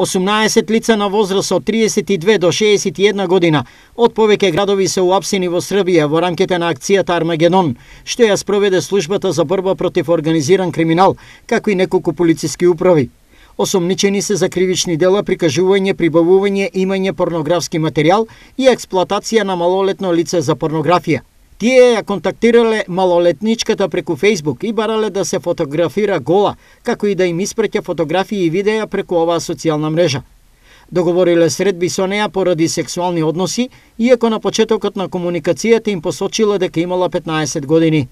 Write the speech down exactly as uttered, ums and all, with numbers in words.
осумнаесет лица на возраст од триесет и две до шеесет и една година од повеќе градови се уапсени во Србија во рамките на акцијата Армагедон, што ја спроведе службата за борба против организиран криминал, како и неколку полициски управи. Осомничени се за кривични дела, прикажување, прибавување, имање порнографски материјал и експлоатација на малолетно лице за порнографија. Тие ја контактирале малолетничката преку Facebook и барале да се фотографира гола, како и да им испраќа фотографии и видеа преку оваа социјална мрежа. Договориле средби со неа поради сексуални односи, иако на почетокот на комуникацијата им посочила дека имала петнаесет години.